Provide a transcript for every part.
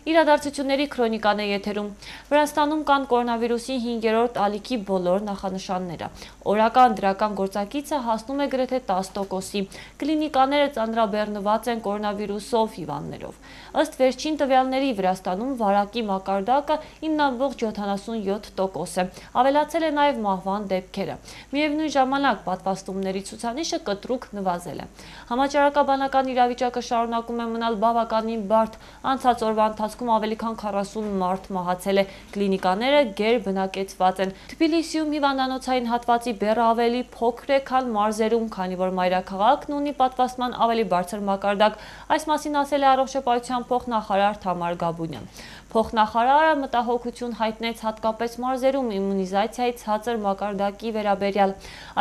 Իրադարձությունների քրոնիկան է եթերում։ Վրաստանում կան կորոնավիրուսի 5-րդ ալիքի բոլոր նախանշանները։ Օրական դրական գործակիցը հասնում է գրեթե 10%-ի։ Կլինիկաները ծանրաբեռնված են կորոնավիրուսով հիվանդներով։ Ըստ վերջին տվյալների Վրաստանում վարակի մակարդակը 9,77% է։ Ավելացել է նաև մահվան դեպքերը։ Միևնույն ժամանակ պատվաստումների ցուցանիշը կտրուկ նվազել է։ Համաճարակաբանական իրավիճակը շարունակում է մնալ բավականին բարդ։ Անցած օրվա ընթացքում ավելի քան 40 մարդ մահացել է։ Կլինիկաները գերբնակեցված են։ Թբիլիսիում հիվանդանոցային հատվածի բեռը ավելի փոքր է, քան մարզերում, քանի որ մայրաքաղաքն ունի պատվաստման ավելի բարձր մակարդակ։ Այս մասին ասել է Առողջապահության փոխնախարար Թամար Գաբունյան։ Փոխնախարարը մտահոգություն հայտնեց հատկապես մարզերում իմունիզացիայի ցածր մակարդակի վերաբերյալ։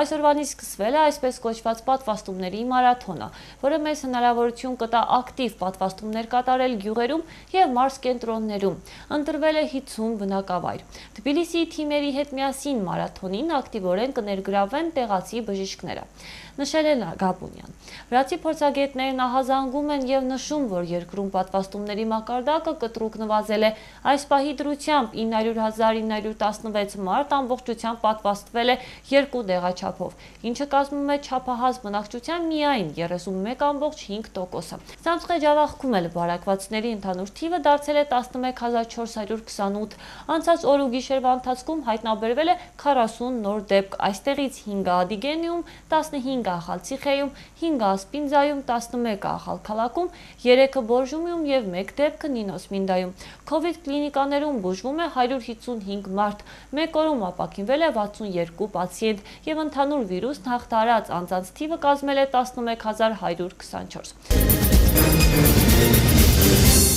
Այսօրվանից սկսվել է այսպես կոչված պատվաստումների մարաթոնը, որը մեզ հնարավորություն կտա ակտիվ պատվաստումներ կատարել գյուղերում և մարզկենտրոններում։ Ընտրվել է 50 բնակավայր։ Թբիլիսիի թիմերի հետ միասին մարաթոնին ակտիվորեն կներգրավվեն տեղացի բժիշկները, նշել է Գաբունյան։ Վրացի փորձագետներն ահազանգում են և նշում, որ երկրում պատվաստումների մակարդակը կտրուկ նվազել է։ Այս պահի դրությամբ 900,916 մարդ ամբողջությամբ պատվաստվել է 2 դեղաչափով, ինչը կազմում է չափահաս բնակչության միայն 31,5%-ը։ Ցամցխե ջավախքում էլ վարակվածների ընդհանուր թիվը դարձել է 11,428։ Անցած օր ու գիշերվա ընթացքում հայտնաբերվել է 40 նոր դեպք, այստեղից 5 Ադիգենիում, 15 Ախալցիխեում, 5 Ասպինձայում, 11 Ախալքալաքում, 3 Բորժումում և 1 դեպքը Նինոսմինդայում։ Քովիդ կլինիկաներում բուժվում է 155 մարդ, մեկ օրում ապաքինվել է 62 պացիենտ և ընդհանուր վիրուսն հաղթահարած անձանց թիվը կազմել է 111,124։